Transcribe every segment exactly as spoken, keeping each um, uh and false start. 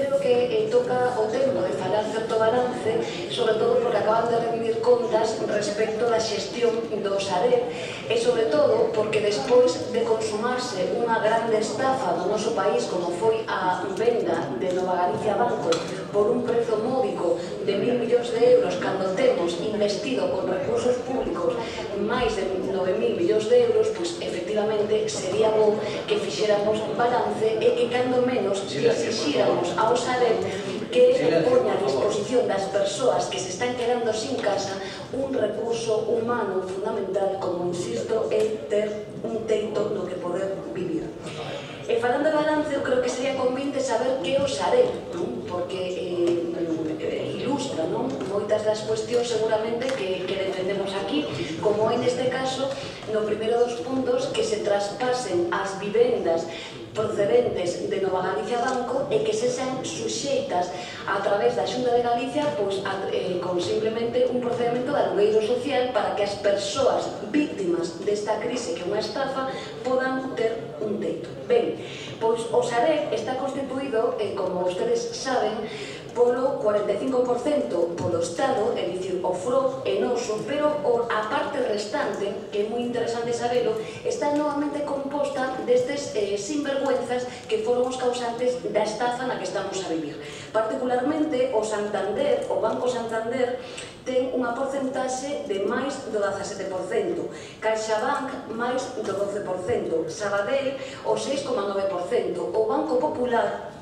creo que toca o tempo de falar certo balance, sobre todo porque acaban de revivir contas respecto da xestión do Sareb e sobre todo porque despois de consumarse unha grande estafa do noso país como foi a venda de Nova Galicia Banco por un prezo módico de mil millóns de euros cando temos investido con recursos públicos máis de nove mil millóns de euros, pois efectivamente sería bo que fixéramos balance e que cando menos que exixíramos ao Sareb que poña a disposición das persoas que se están quedando sin casa un recurso humano fundamental, como insisto, é ter un teito no que poder vivir. E falando de balance, eu creo que sería convinte saber que é o Sareb, porque eh, ilustra non? Moitas das cuestións seguramente que, que defendemos aquí, como en este caso, no primeiro dos puntos, que se traspasen as vivendas procedentes de Nova Galicia Banco e que se sean suxeitas a través da Xunta de Galicia pois, a, eh, con simplemente un procedimento de alugueiro social para que as persoas víctimas desta crise que é unha estafa podan ter un teito. Ben, pois o Sareb está constituído, eh, como ustedes saben, polo cuarenta e cinco por cento polo Estado, é dicir, o F R O é noso, pero a parte restante, que é moi interesante sabelo, está novamente composta destes eh, sinvergüenzas que foron os causantes da estafa na que estamos a vivir. Particularmente, o Santander, o Banco Santander, ten unha porcentaxe de máis do dezasete por cento, CaixaBank máis do doce por cento, Sabadell o seis coma nove por cento, o Banco Popular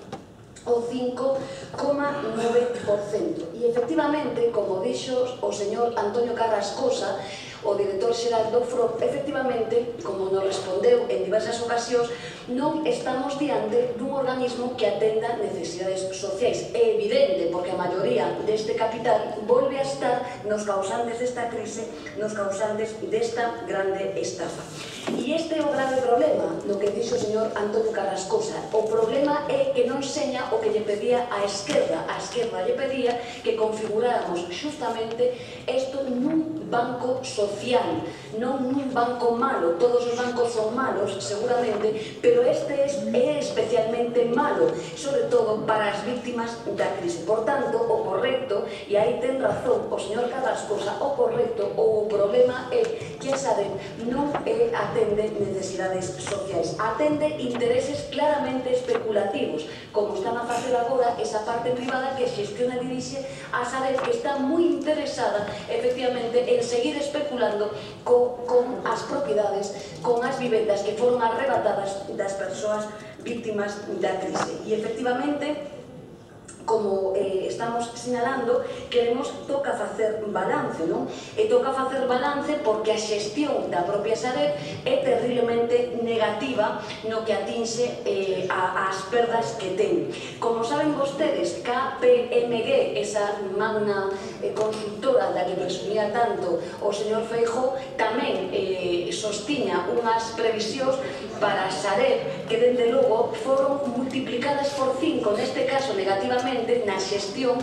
o cinco coma nove por cento. E efectivamente, como dixo o señor Antonio Carrascosa, o director xeral do F R O, efectivamente, como nos respondeu en diversas ocasións, non estamos diante dun organismo que atenda necesidades sociais. É evidente, porque a maioría deste capital volve a estar nos causantes desta crise, nos causantes desta grande estafa. E este é o grave problema do que dixo o señor Antonio Carrascosa. O problema é que non seña o que lle pedía a esquerda. A esquerda lle pedía que configuráramos justamente isto nun banco social, non nun banco malo. Todos os bancos son malos, seguramente, pero este é especialmente malo, sobre todo para as víctimas da crise. Por tanto, o correcto, e aí ten razón o señor Carrascosa, o correcto ou o problema é que a Sareb non é atende necesidades sociais, atende intereses claramente especulativos, como están a facer agora esa parte privada que xestiona e dirixe a Sareb, que está moi interesada, efectivamente, en seguir especulando con, con as propiedades, con as vivendas que foron arrebatadas das persoas víctimas da crise. E, efectivamente, como eh, estamos sinalando, queremos toca facer balance, non? E toca facer balance porque a xestión da propia Sareb é terriblemente negativa no que atinxe eh, a, as perdas que ten. Como saben vostedes, K P M G, esa magna eh, consultora da que presumía tanto o señor Feijóo, tamén eh, sostiña unhas previsións para a Sareb que, dende logo, foron multiplicadas por cinco, neste caso negativamente, na xestión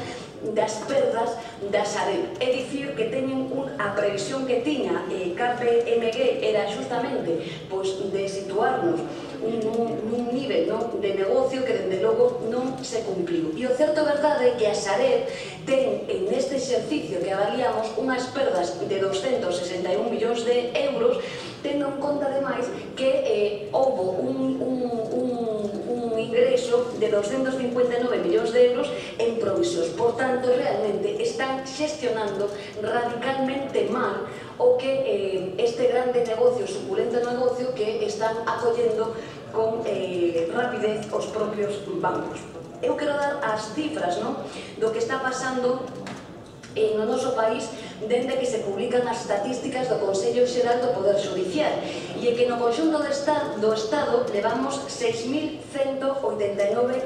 das perdas da Sareb. É dicir, que teñen a previsión que tiña K P M G era justamente de situarnos nun nivel de negocio que, dende logo, non se cumpliu. E o certo verdade é que a Sareb ten, en este exercicio que avaliamos, unhas perdas de doscentos sesenta e un millóns de euros, tendo en conta, ademais, que houbo un ingreso de doscentos cincuenta e nove millóns de euros en provisións. Por tanto, realmente están xestionando radicalmente mal o que este grande negocio, suculento negocio, que están acollendo con rapidez os propios bancos. Eu quero dar as cifras do que está pasando no noso país dende que se publican as estatísticas do Consello Xeral do Poder Judicial, e é que no conxunto do Estado levamos seis mil cento oitenta e nove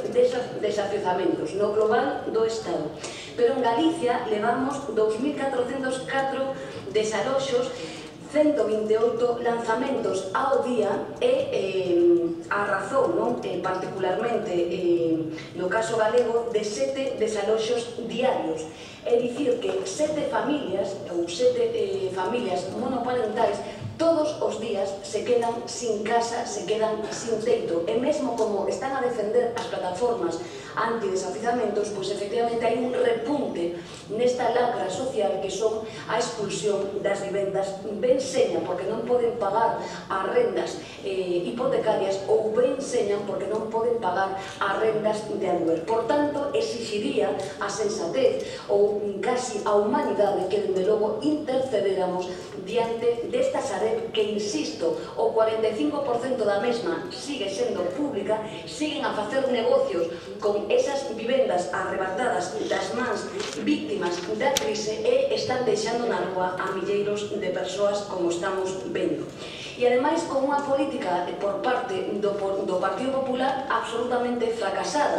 desafiuzamentos no global do Estado, pero en Galicia levamos dous mil catrocentos catro desaloxos, ciento vinte e oito lanzamentos ao día e a razón, particularmente no caso galego, de sete desaloxos diarios. É dicir que sete familias ou sete familias monoparentais todos os días se quedan sin casa, se quedan sin teito, e mesmo como están a defender as plataformas antidesafiuzamentos, pois efectivamente hai un repunte nesta lacra social que son a expulsión das vivendas ben seña porque non poden pagar as rendas eh, hipotecarias ou ben señan porque non poden pagar as rendas de aluguer. Por tanto, exixiría a sensatez ou casi a humanidade que, dende logo, intercederamos diante desta Sareb que, insisto, o cuarenta e cinco por cento da mesma sigue sendo pública, siguen a facer negocios con esas vivendas arrebatadas das mans víctimas da crise e están deixando na rúa a milleiros de persoas como estamos vendo. E ademais con unha política por parte do, do Partido Popular absolutamente fracasada.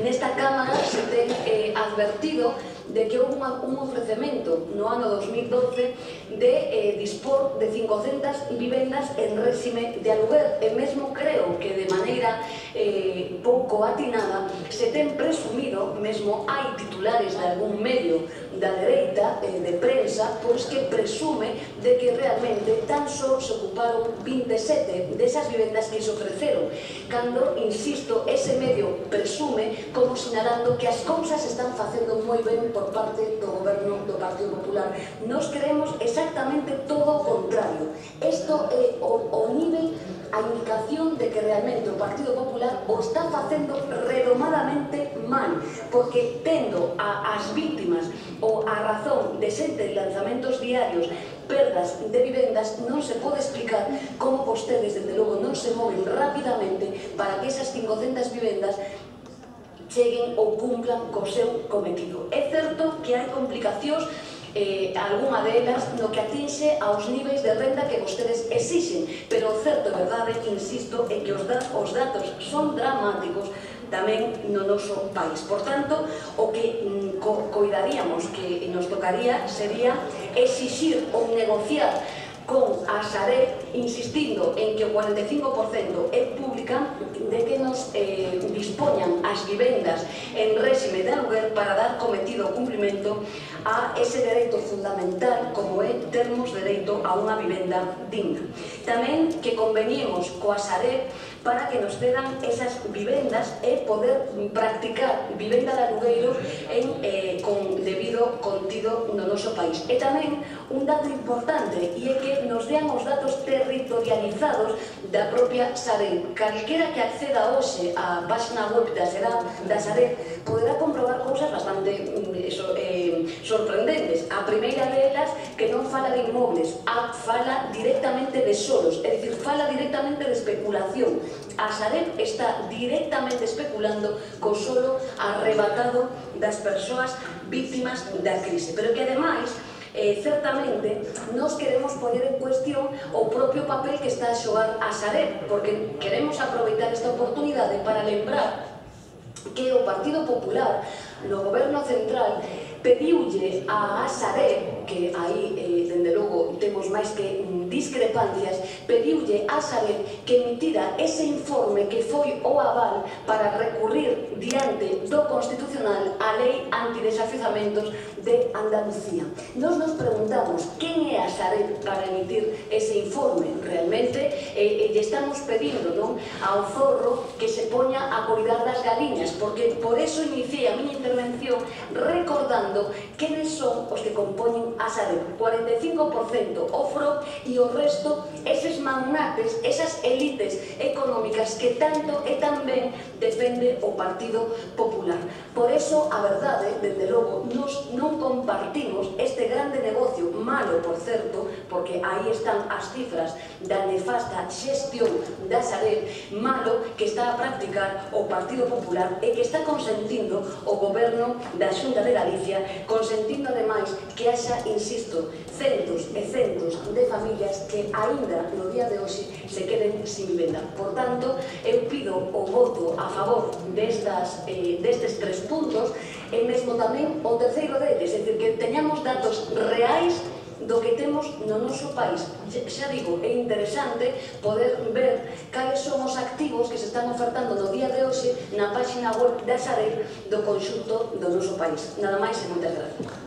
Nesta Cámara se ten eh, advertido de que houve un ofrecemento no ano dos mil doce de eh, dispor de cincocentas vivendas en réxime de aluguer e mesmo creo que de maneira eh, pouco atinada se ten presumido, mesmo hai titulares de algún medio da dereita eh, de prensa, pois que presume de que realmente tan só se ocuparon vinte e sete desas vivendas que se ofreceron, cando, insisto, ese medio presume como sinalando que as cousas están facendo moi ben por parte do goberno do Partido Popular. Nos queremos exactamente todo o contrario. Isto é o, o nivel, a indicación de que realmente o Partido Popular o está facendo redomadamente mal, porque tendo a, as víctimas ou a razón de sete lanzamentos diarios, perdas de vivendas, non se pode explicar como vostedes, desde logo, non se moven rapidamente para que esas cincocentas vivendas cheguen ou cumplan co seu cometido. É certo que hai complicacións, eh, algunha delas no que atinxe aos niveis de renda que vostedes exixen, pero o certo e verdade, insisto, é que os, da, os datos son dramáticos tamén no noso país. Por tanto, o que mm, co coidaríamos, que nos tocaría, sería exixir ou negociar con a Sareb, insistindo en que o cuarenta e cinco por cento é pública, de que nos eh, dispoñan as vivendas en réxime de aluguer para dar cometido o cumprimento a ese dereito fundamental como é termos dereito a unha vivenda digna. Tamén que conveniemos coa Sareb para que nos cedan esas vivendas e poder practicar vivenda de alugueiro en, eh, con debido contido no noso país. E tamén un dato importante, e é que nos dean os datos territorializados da propia Sareb. Calquera que acceda hoxe á página web da Sareb poderá comprobar cousas bastante eso, eh, sorprendentes. A primeira delas, que non fala de inmobles, a fala directamente de solos, é dicir, fala directamente de especulación. A Sareb está directamente especulando co solo arrebatado das persoas víctimas da crise. Pero que, ademais, Eh, certamente nos queremos poñer en cuestión o propio papel que está a xogar a Sareb, porque queremos aproveitar esta oportunidade para lembrar que o Partido Popular no goberno central pediulle a Sareb, que aí, eh, dende logo, temos máis que discrepancias, pediulle a Sareb que emitira ese informe que foi o aval para recurrir diante do Constitucional a lei antidesafiuzamentos de Andalucía. Nos nos preguntamos quen é a Sareb para emitir ese informe. Realmente eh, lle estamos pedindo, non, ao zorro que se poña a cuidar das galiñas, porque por eso iniciei a miña intervención recordando quenes son os que compoñen a Sareb. cuarenta e cinco por cento o F R O e o resto, eses magnates, esas elites económicas que tanto e tan ben defende o Partido Popular. Por eso, a verdade, dende logo, nos non compartimos este grande negocio, malo, por certo, porque aí están as cifras da nefasta xestión da Sareb, malo que está a practicar o Partido Popular e que está consentindo o goberno da Xunta de Galicia, consentindo ademais que haxa, insisto, centos e centos de familias que aínda no día de hoxe se queden sin vivenda. Por tanto, eu pido o voto a favor destas, eh, destes tres puntos e mesmo tamén o terceiro deles, é dicir, que teñamos datos reais do que temos no noso país. Xa digo, é interesante poder ver cales son os activos que se están ofertando no día de hoxe na página web da Sareb do conxunto do noso país. Nada máis e moitas gracias.